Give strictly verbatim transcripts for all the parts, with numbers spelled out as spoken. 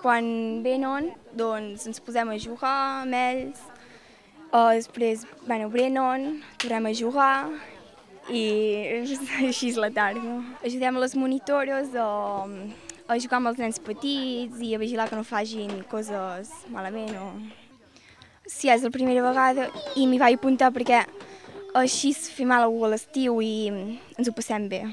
quan venen, doncs ens posem a jugar amb ells, uh, després, bueno, venen, tornem a jugar i així és la tarda. Ajudem a les monitores a, a jugar amb els nens petits i a vigilar que no facin coses malament. O... Sí, és la primera vegada i m'hi vaig apuntar perquè així fem alguna cosa a l'estiu i ens ho passem bé.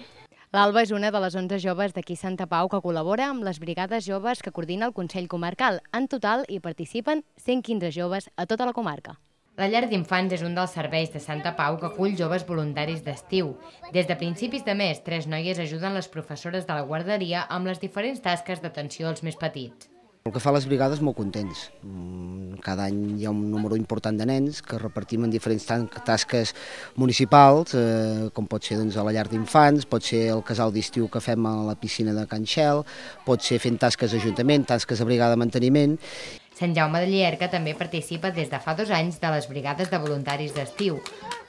L'Alba és una de les onze joves d'aquí Santa Pau que col·labora amb les brigades joves que coordina el Consell Comarcal. En total hi participen cent quinze joves a tota la comarca. La llar d'infants és un dels serveis de Santa Pau que acull joves voluntaris d'estiu. Des de principis de mes, tres noies ajuden les professores de la guarderia amb les diferents tasques d'atenció als més petits. El que fa les brigades, molt contents. Cada any hi ha un número important de nens que repartim en diferents tasques municipals, eh, com pot ser doncs, a la llar d'infants, pot ser el casal d'estiu que fem a la piscina de Can Xel, pot ser fent tasques d'ajuntament, tasques de brigada de manteniment. Sant Jaume de Llierca també participa des de fa dos anys de les brigades de voluntaris d'estiu.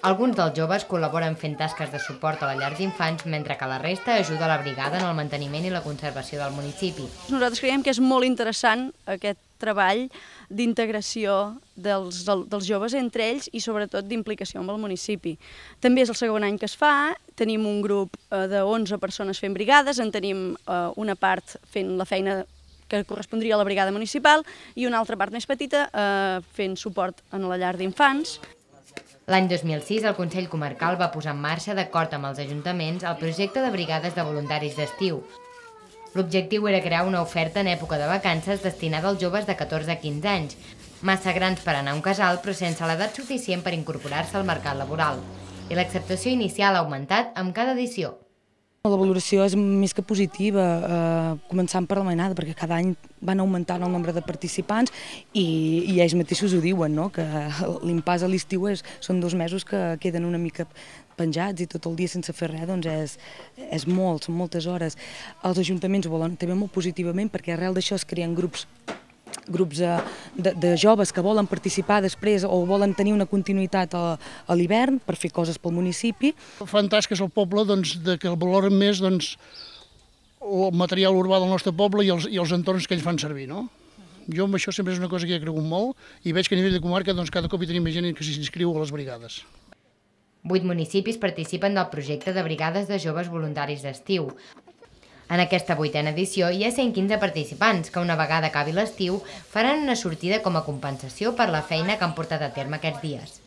Alguns dels joves col·laboren fent tasques de suport a la llar d'infants, mentre que la resta ajuda la brigada en el manteniment i la conservació del municipi. Nosaltres creiem que és molt interessant aquest treball d'integració dels, dels joves entre ells i sobretot d'implicació amb el municipi. També és el segon any que es fa, tenim un grup de onze persones fent brigades, en tenim una part fent la feina que correspondria a la brigada municipal i una altra part més petita eh, fent suport en la llar d'infants. L'any dos mil sis el Consell Comarcal va posar en marxa, d'acord amb els ajuntaments, el projecte de brigades de voluntaris d'estiu. L'objectiu era crear una oferta en època de vacances destinada als joves de catorze a quinze anys, massa grans per anar a un casal però sense l'edat suficient per incorporar-se al mercat laboral. I l'acceptació inicial ha augmentat amb cada edició. La valoració és més que positiva, eh, començant per la mainada, perquè cada any van augmentant el nombre de participants i, i ells mateixos ho diuen, no? Que l'impàs a l'estiu són dos mesos que queden una mica penjats i tot el dia sense fer res, doncs és, és molt, són moltes hores. Els ajuntaments ho volen també molt positivament perquè arrel d'això es creen grups grups de, de joves que volen participar després o volen tenir una continuïtat a, a l'hivern per fer coses pel municipi. Fan tasques al poble doncs, de que el valoren més doncs, el material urbà del nostre poble i els, i els entorns que ells fan servir. No? Jo amb això sempre és una cosa que he cregut molt i veig que a nivell de comarca doncs, cada cop hi tenim més gent que s'inscriu a les brigades. Vuit municipis participen del projecte de brigades de joves voluntaris d'estiu. En aquesta vuitena edició hi ha cent quinze participants que una vegada acabi l'estiu faran una sortida com a compensació per la feina que han portat a terme aquests dies.